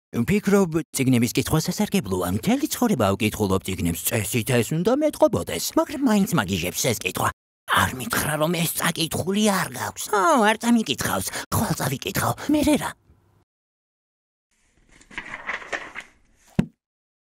ვფიქრობ, წიგნების კითხვა სასარგებლოა. მთელი ცხოვრება ვკითხულობ წიგნებს, წესით ეს უნდა მეტყობოდეს. მაგრამ მაინც მაგიჟებს ეს კითხვა. არ მითხრა, რომ ეს წაკითხული არ გაქვს. არ წამიკითხავს, ხვალ წავიკითხავ, მერე რა.